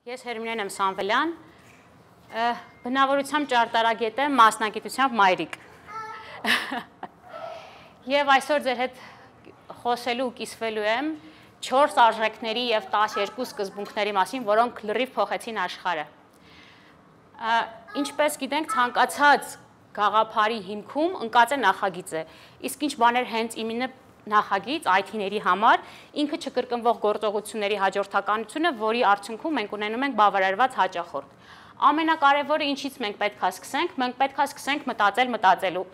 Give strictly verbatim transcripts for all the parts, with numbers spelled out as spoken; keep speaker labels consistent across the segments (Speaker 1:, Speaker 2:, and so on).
Speaker 1: Ես Հերմինեն եմ Սամվելյան, բնավորությամբ ճարտարագետ եմ, մասնագիտությամբ մայրիկ։ Եվ այսօր ձեր հետ խոսելու ու կիսվելու եմ չորս արժեքների և տասներկու սկզբունքների մասին, որոնք լրիվ փոխեցին աշխարհը։ Ինչպես գիտենք, ցանկացած գաղափարի հիմքում ընկած է նախագիծը, իսկ ինչ բաներ հենց իմինը նախագիծ այ թիների համար, ինքը չկրկնվող գործողությունների հաջորդականությունը, որի արդյունքում մենք ունենում ենք բավարարված հաճախորդ։ Ամենակարևորը ինչից մենք պետք է սկսենք, մենք պետք է սկսենք մտածել մտածելու։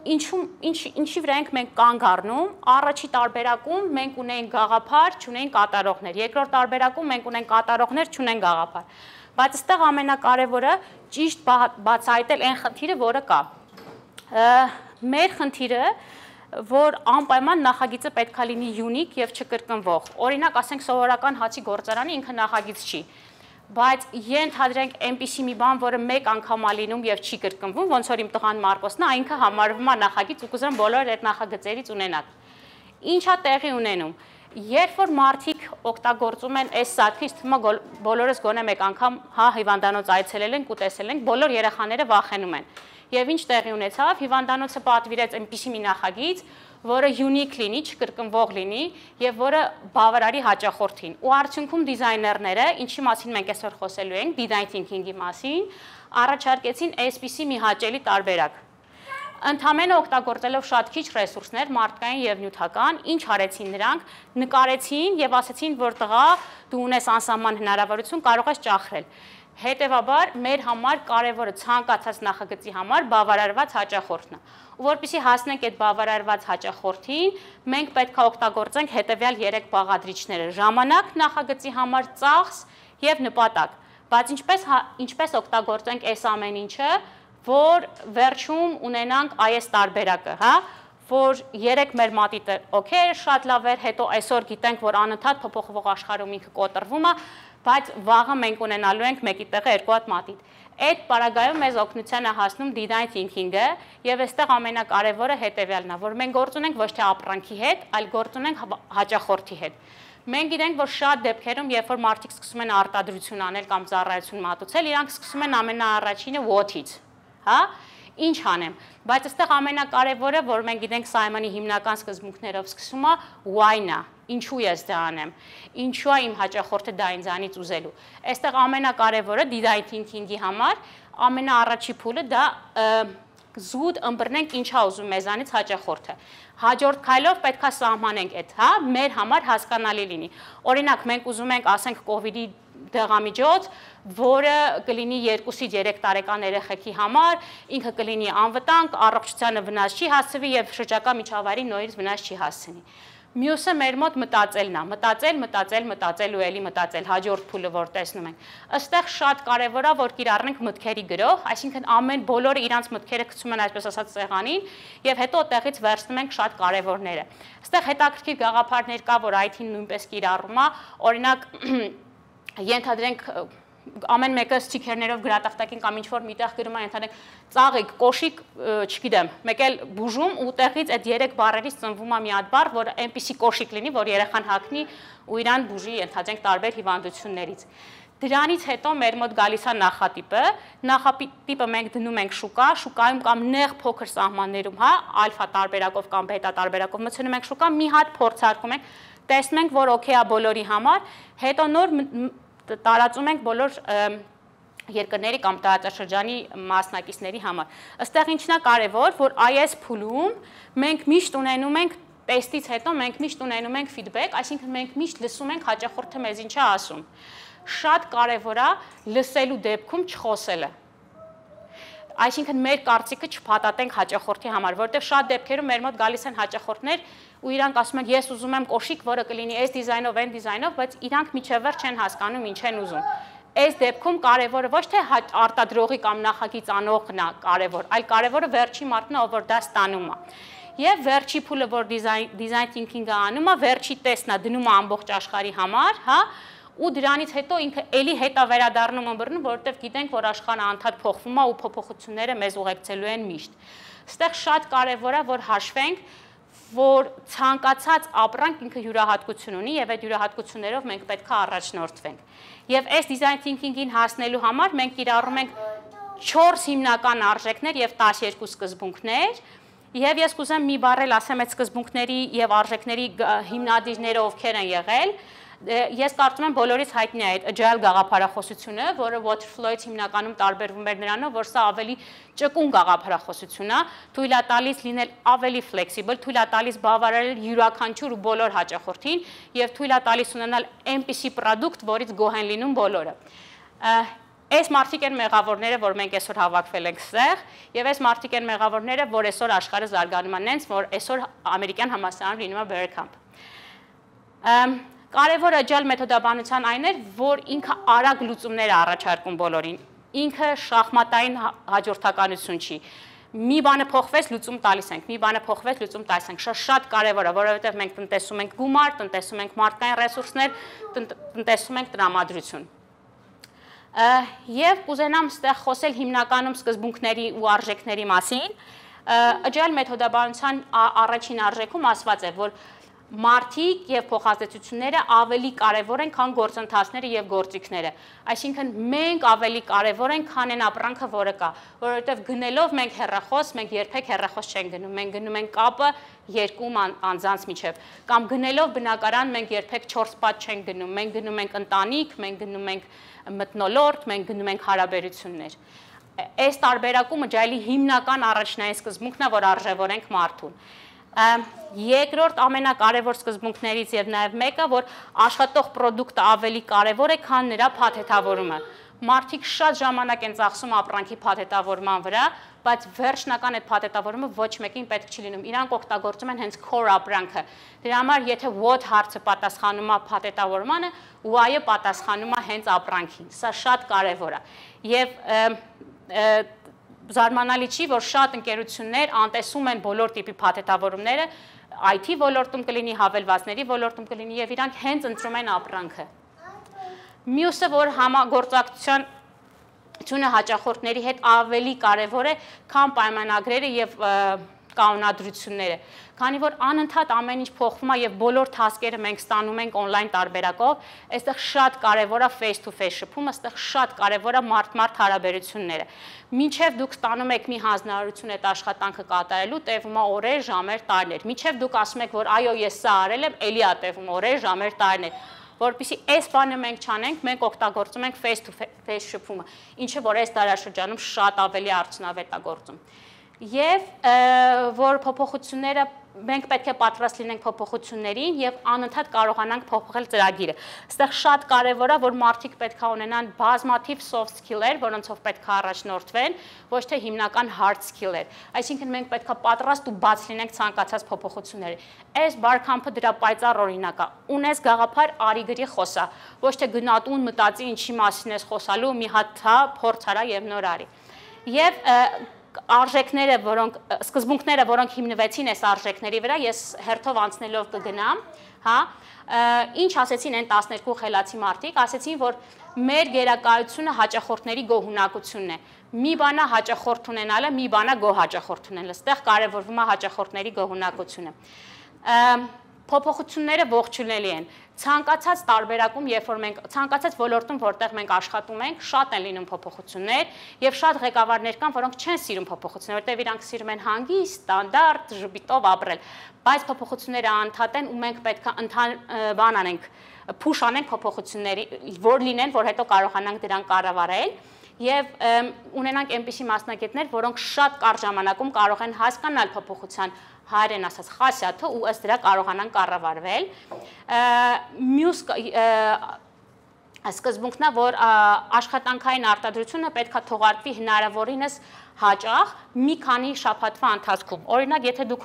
Speaker 1: Ինչի վրա ենք մենք կանգ առնում, առաջի տարբերակում մենք ունենք գաղափար, չունենք կատարողներ, երկրորդ տարբերակում մենք ունենք կատարողներ, չունենք գաղափար։ Բայց այստեղ ամենակարևորը ճիշտ բացահայտել այն խնդիրը, որը կա։ Մեր խնդիրը, որ անպայման նախագիծը պետք է լինի յունիկ և չկրկնվող։ Օրինակ, ասենք սովորական հացի գործարանը ինքը նախագիծ չի, բայց ենթադրենք այնպիսի մի բան, որը մեկ անգամ է լինում և չի կրկնվում, ոնց որ իմ տղան Մարկոսն է, ինքը համարվում է նախագիծ ու կուզեմ բոլոր այդ նախագծերից ունենալ։ Ինչ է տեղի ունենում։ Երբ որ մարդիկ օգտագործում են այս սարքը, ինձ թվում է բոլորս գոնե մեկ անգամ հա հիվանդանոց այցելել ենք ու տեսել ենք, բոլոր երեխաները վախենում են։ Եվ ինչ տեղի ունեցավ, հիվանդանոցը պատվիրեց այնպիսի մի նախագիծ, որը յունիկ լինի, չկրկնվող լինի և որը բավարարի հաճախորդին։ Ու արդյունքում դիզայներները, ինչի մասին մենք այսօր խոսելու ենք, design thinking-ի մասին, առաջարկեցին այսպիսի մի հաճելի տարբերակ։ Ընդամենը օգտագործելով շատ քիչ ռեսուրսներ, մարդկային և նյութական, ինչ արեցին նրանք, նկարեցին և ասեցին, որ տղա, դու ունես անսահման հնարավորություն, կարող ես ճախրել։ Հետևաբար, մեր համար կարևորը ցանկացած նախագծի համար բավարարված հաճախորդն է։ Ու որպեսզի հասնենք այդ բավարարված հաճախորդին, մենք պետք է օգտագործենք հետևյալ երեք բաղադրիչները՝ ժամանակ նախագծի համար, ծախս և նպատակ։ Բայց ինչպես օգտագործենք այս ամեն ինչը, որ վերջում ունենանք այս տարբերակը, հա, որ երեք մեր մատիտը օքեյ, շատ լավ էր, հետո այսօր գիտենք, որ անընդհատ փոփոխվող աշխարհում ինքը կոտրվում է, բայց վաղը մենք ունենալու ենք մեկի տեղը երկու հատ մատիտ։ Այդ պարագայում մեզ օգնության է հասնում design thinking-ը, եւ այստեղ ամենակարևորը հետեւյալն է, որ մենք գործ ունենք ոչ թե ապրանքի հետ, այլ գործ ունենք հաճախորդի հետ։ Մենք գիտենք, որ շատ դեպքերում, երբ որ մարդիկ սկսում են արտադրություն անել կամ ծառայություն մատուցել, իրանք սկսում են ամենաառաջինը what-ից, հա, ինչ անեմ, բայց այստեղ ամենակարևորը, որ մենք գիտենք Սայմոնի հիմնական սկզբունքներով սկսում է why-ն է, ինչու ես դա անեմ, ինչու է իմ հաճախորդը դա ինձանից ուզելու։ Այստեղ ամենակարևորը design thinking-ի համար ամենաառաջի փուլը դա զուտ ըմբռնենք ինչա ուզում մեզանից հաճախորդը։ Հաջորդ քայլով պետք է սահմանենք այդ, հա, մեր համար հասկանալի լինի։ Օրինակ, մենք ուզում ենք, ասենք, կովիդի դեղամիջոց, որը կլինի երկուսից երեք տարեկան երեխեքի համար, ինքը կլինի անվտանգ, առողջությանը վնաս չի հասցվի և շրջակա միջավայրին նորից վնաս չի հասցնի։ Մյուսը մեր մոտ մտածելն է, մտածել, մտածել, մտածել ու էլի մտածել, հաջորդ փուլը, որ տեսնում ենք։ Այստեղ շատ կարևոր է, որ կիրառենք մտքերի գրող, այսինքն ամեն բոլորը իրանց մտքերը գցում են այսպես ասած սեղանին և հետո այդտեղից վերցնում ենք շատ կարևորները։ Այստեղ հետաքրքիր գաղափարներ կա, որ այ թին նույնպես կիրառում է, օրինակ ենթադրենք ամեն մեկը ստիքերներով գրատախտակին կամ ինչ-որ միտեղ գրում է, ենթադրենք ծաղիկ, կոշիկ, չգիտեմ, մեկ էլ բուժում ու տեղից այդ երեք բառերից ծնվում է մի հատ բառ, որ այնպիսի կոշիկ լինի, որ երեխան հագնի ու իրան բուժի, ենթադրենք տարբեր հիվանդություններից։ Դրանից հետո մեր մոտ գալիս է նախատիպը, նախատիպը մենք դնում ենք շուկա, շուկայում կամ նեղ փոքր սահմաններում, հա, ալֆա տարբերակով կամ բետա տարբերակով մտցնում ենք շուկա, մի հատ փորձարկում ենք, տեսնում ենք, որ օքեյ է բոլորի համար, հետո նոր տարածում ենք բոլոր երկրների կամ տարածաշրջանի մասնակիցների համար։ Այստեղ ինչն է կարևոր, որ այս փուլում մենք միշտ ունենում ենք տեստից հետո մենք միշտ ունենում ենք ֆիդբեք, այսինքն մենք միշտ լսում ենք հաճախորդը մեզ ինչ է ասում։ Շատ կարևոր է լսելու դեպքում չխոսելը։ Այսինքն մեր կարծիքը չփաթաթենք հաճախորդի համար, որովհետև շատ դեպքերում մեր մոտ գալիս են հաճախորդներ ու իրանք ասում են ես ուզում եմ կոշիկ, որը կլինի այս դիզայնով, այն դիզայնով, բայց իրանք միջև վերջ չեն հասկանում ինչ են ուզում։ Այս դեպքում կարևորը ոչ թե արտադրողի կամ նախագիծ անողն է կարևոր, այլ կարևորը վերջի մարդն է, ով որ դա ստանում է։ Եվ վերջի փուլը, որ design thinking-ը անում է, վերջի տեսն է դնում է ամբողջ աշխարհի համար, հա, ու դրանից հետո ինքը էլի հետ է վերադառնում ըմբռնում, որովհետև գիտենք, որ աշխարհը անդադ փոխվում է ու փոփոխությունները մեզ ուղեկցելու են միշտ։ Այստեղ շատ կարևոր է, որ հաշվենք որ ցանկացած ապրանք ինքը յուրահատկություն ունի եւ այդ յուրահատկություններով մենք պետք է առաջնորդվենք։ Եվ այս design thinking-ին հասնելու համար մենք կիրառում ենք չորս հիմնական արժեքներ եւ տասներկու սկզբունքներ։ Եվ ես կուզեմ մի բառել ասեմ այդ սկզբունքների եւ արժեքների հիմնադիրները ովքեր են եղել։ Ես կարծում եմ բոլորից հայտնի է այդ agile գաղափարախոսությունը, որը Waterflow-ից հիմնականում տարբերվում էր նրանով, որ սա ավելի ճկուն գաղափարախոսություն է, թույլ է տալիս լինել ավելի flexible, թույլ է տալիս բավարարել յուրաքանչյուր ու բոլոր հաճախորդին եւ թույլ է տալիս ունենալ այնպիսի product, որից գոհ են լինում բոլորը։ Այս մարդիկ են մեղավորները, որ մենք այսօր հավաքվել ենք ստեղ, եւ այս մարդիկ են մեղավորները, որ այսօր աշխարհը զարգանում է նենց, որ այսօր ամերիկյան համալսարանում լինում է Bergkamp։ Կարևոր agile մեթոդաբանության այն էր, որ ինքը արագ լուծումներ է առաջարկում բոլորին, ինքը շախմատային հաջորդականություն չի։ Մի բանը փոխվեց, լուծում տալիս ենք, մի բանը փոխվեց, լուծում տալիս ենք։ Շատ կարևոր է, որովհետև մենք տնտեսում ենք գումար, տնտեսում ենք մարդկային ռեսուրսներ, տնտեսում ենք տրամադրություն։ Եվ կուզենամ ստեղ խոսել հիմնականում սկզբունքների ու արժեքների մասին։ Agile մեթոդաբանության առաջին արժեքում ասված է, որ մարդիկ եւ փոխազդեցությունները ավելի կարեւոր են, քան գործընթացները եւ գործիքները։ Այսինքն մենք ավելի կարեւոր ենք, քան այն ապրանքը, որը կա, որովհետեւ գնելով մենք հեռախոս, մենք երբեք հեռախոս չենք գնում, մենք գնում ենք կապը երկու անձանց միջև, կամ գնելով բնակարան մենք երբեք չորս պատ չենք գնում, մենք գնում ենք ընտանիք, մենք գնում ենք մթնոլորտ, մենք գնում ենք հարաբերություններ։ Այս տարբերակումը agile-ի հիմնական առաջնային սկզբունքն է, որ արժևորենք մարդուն։ Երկրորդ ամենակարևոր սկզբունքներից եւ նաեւ մեկը, որ աշխատող պրոդուկտը ավելի կարևոր է, քան նրա փաթեթավորումը։ Մարդիկ շատ ժամանակ են ծախսում ապրանքի փաթեթավորման վրա, բայց վերջնական այդ փաթեթավորումը ոչ մեկին պետք չի լինում։ Իրանք օգտագործում են հենց core ապրանքը։ Դրա համար եթե what հարցը պատասխանում է փաթեթավորմանը, why-ը պատասխանում է հենց ապրանքին։ Սա շատ կարևոր է։ Եվ զարմանալի չի, որ շատ ընկերություններ անտեսում են բոլոր տիպի փաթեթավորումները, I T ոլորտում կլինի, հավելվածների ոլորտում կլինի եւ իրանք հենց ընտրում են ապրանքը։ Մյուսը, որ համագործակցությունը հաճախորդների հետ ավելի կարևոր է, քան պայմանագրերը եւ կանոնադրությունները, քանի որ անընդհատ ամեն ինչ փոխվում է եւ բոլոր task-երը մենք ստանում ենք on-line տարբերակով, այստեղ շատ կարեւոր է face to face շփումը, այստեղ շատ կարեւոր է մարդ-մարդ հարաբերությունները։ Մինչև դուք ստանում եք մի հանձնարարություն այդ աշխատանքը կատարելու, տևում է օրեր, ժամեր, տարիներ։ Մինչև դուք ասում եք, որ այո, ես սա արել եմ, էլի է տևում օրեր, ժամեր, տարիներ։ Որպեսզի այս բանը մենք չանենք, մենք օգտագործում ենք face to face շփումը, ինչը որ այս դարաշրջանում շատ ավելի արդյունավետ է գործում։ Եվ որ փոփոխությունները մենք պետք է պատրաստ լինենք փոփոխություններին եւ անընդհատ կարողանանք փոխել ծրագիրը։ Այստեղ շատ կարեւոր է, որ մարդիկ պետք է ունենան բազմաթիվ soft skill-եր, որոնցով պետք է առաջնորդվեն, ոչ թե հիմնական hard skill-եր։ Այսինքն մենք պետք է պատրաստ ու բաց լինենք ցանկացած փոփոխությունների։ Այս Bergkamp-ը դրա պայծառ օրինակ է։ Ունես գաղափար, արի գրի խոսա, ոչ թե գնատուն մտածի ինչի մասին ես խոսալու, մի հատ հա փորձ արա եւ նոր արի։ Եվ արժեքները, որոնք սկզբունքները, որոնք հիմնվեցին այս արժեքների վրա, ես հերթով անցնելով կգնամ, հա, ինչ ասեցին այն տասներկու խելացի մարդիկ, ասեցին, որ մեր գերակայությունը հաճախորդների գոհունակությունն է։ Մի բանա հաճախորդ ունենալը, մի բանա գոհ հաճախորդ ունենալը, այստեղ կարևորվում է հաճախորդների գոհունակությունը։ Փոփոխությունները ողջունելի են։ Ցանկացած տարբերակում, երբ որ մենք ցանկացած ոլորտում, որտեղ մենք աշխատում ենք, շատ են լինում փոփոխություններ եւ շատ ղեկավարներ կան, որոնք չեն սիրում փոփոխություններ, որտեղ իրանք սիրում են հանգիստ, ստանդարտ, ժպիտով ապրել, բայց փոփոխությունները անընդհատ են ու մենք պետք է բան անենք, push անենք փոփոխությունների, որ լինեն, որ հետո կարողանանք դրանք կառավարել եւ ունենանք այնպիսի մասնագետներ, որոնք շատ կարճ ժամանակում կարող են հասկանալ փոփոխության հայերեն ասած խասյաթը ու ըստ դրա կարողանան կառավարվել։ Մյուս սկզբունքն է, որ աշխատանքային արտադրությունը պետք է թողարկվի հնարավորինս հաճախ մի քանի շաբաթվա ընթացքում։ Օրինակ, եթե դուք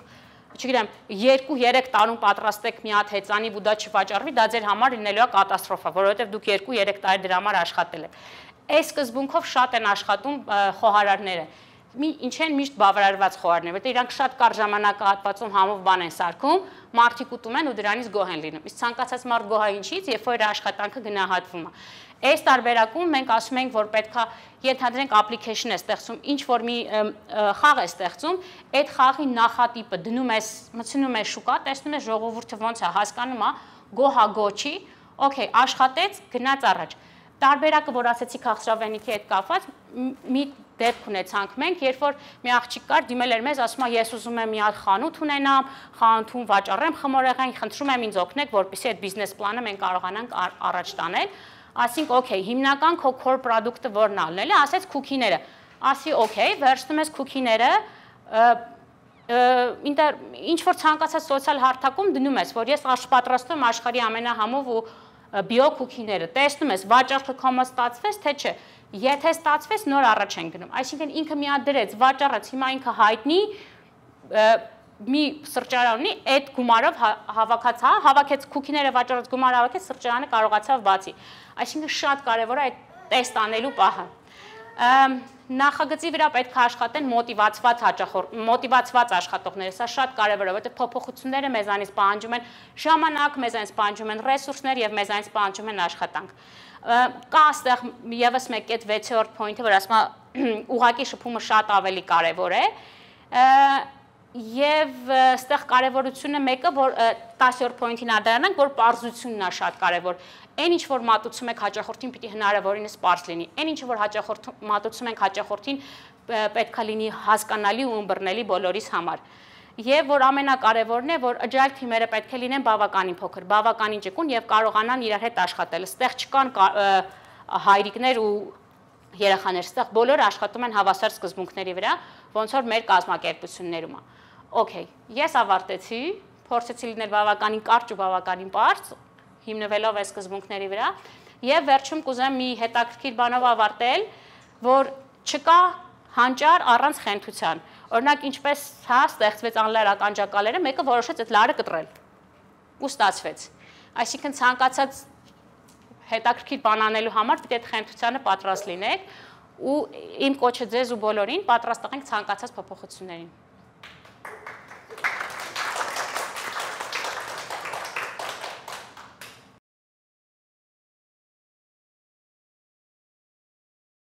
Speaker 1: չգիտեմ, երկու-երեք տարում պատրաստեք մի հատ հեծանի ու դա չվաճառվի, դա ձեր համար լինելու է կատաստրոֆա, որովհետև դուք երկու-երեք տարի դրա համար աշխատել եք։ Այս սկզբունքով շատ են աշխատում խոհարարները։ ինչ են միշտ բավարարված խոհարներ, որտեղ իրանք շատ կար ժամանակահատվածում համով բան են սարքում, մարդիկ ուտում են ու դրանից գոհ են լինում։ Իսկ ցանկացած մարդ գոհ է ինչից, երբ որ իր աշխատանքը գնահատվում է։ Այս տարբերակում մենք ասում ենք, որ պետքա ենթադրենք application է ստեղծում, ինչ որ մի խաղ է ստեղծում, այդ խաղի նախատիպը դնում ես, մտցնում ես շուկա, տեսնում ես ժողովուրդը ոնց է հասկանում, գոհա գոչի, օքեյ, աշխատեց, գնաց առաջ։ Տարբերակը, որ ասեցի քաղցրավենիքի հետ կապված, մի դեպք ունեցանք մենք, երբ որ մի աղջիկ կար, դիմել էր մեզ, ասում է, ես ուզում եմ մի հատ խանութ ունենամ, խանութում վաճառեմ խմորեղեն, խնդրում եմ ինձ օգնեք, որպեսզի այդ բիզնես պլանը մենք կարողանանք առաջ տանել։ Ասինք, օքեյ, հիմնական քո core product-ը որն է ալնել է, ասեց քուքիները։ Ասի, օքեյ, վերցնում ես քուքիները, ինչ որ ցանկացած սոցիալ հարթակում դնում ես, որ ես պատրաստում աշխարհի ամենահամով ու բիո քուքիները, տեսնում ես, վաճառքը կոմը ստացվեց, թե չէ։ Եթե ստացվեց, նոր առաջ են գնում։ Այսինքն ինքը մի հատ դրեց, վաճառեց, հիմա ինքը հայտնի մի սրճարան ունի, այդ գումարով հավաքած, հա, հավաքեց քուքիները վաճառած գումարը հավաքեց, սրճարանը կարողացավ բացի։ Այսինքն շատ կարևոր է այդ տեստ անելու պահը։ Նախագծի վրա պետք է աշխատեն մոտիվացված հաճախորդ, մոտիվացված աշխատողները, սա շատ կարևոր է, որտեղ փոփոխությունները մեզանից պահանջում են ժամանակ, մեզանից պահանջում են ռեսուրսներ եւ մեզանից պահանջում են աշխատանք։ Կա այստեղ եւս մեկ այդ վեցերորդ point-ը, որ ասում է ուղակի շփումը շատ ավելի կարևոր է։ Եվ այստեղ կարևորությունը մեկը, որ տասերորդ point-ին անդրադառնանք, որ պարզությունն է շատ կարևոր։ Այն ինչ որ մատուցում եք հաճախորդին, պիտի հնարավորինս պարզ լինի։ Այն ինչ որ հաճախորդ մատուցում ենք հաճախորդին, պետքա լինի հասկանալի ու ըմբռնելի բոլորիս համար։ Եվ որ ամենակարևորն է, որ agile թիմերը պետք է լինեն բավականին փոքր, բավականին ճկուն եւ կարողանան իրար հետ աշխատել։ Այստեղ չկան հայրիկներ ու երեխաներ, այստեղ բոլորը աշխատում են հավասար սկզբունքների վրա, ոնց որ մեր կազմակերպություններում է։ Okay, ես ավարտեցի, փորձեցի լինել բավականին կարճ ու բավականին պարզ, հիմնվելով այս սկզբունքների վրա, եւ վերջում կուզեմ մի հետաքրքիր բանով ավարտել, որ չկա հանճար առանց խենթության։ Օրինակ, ինչպես հա ստեղծվեց անլար ականջակալերը, մեկը որոշեց այդ լարը կտրել։ Ու ստացվեց։ Այսինքն ցանկացած հետաքրքիր բան անելու համար պետք է այդ խենթությանը պատրաստ լինեք ու իմ կոչը ձեզ ու բոլորին պատրաստ եղենք ցանկացած փոփոխություններին։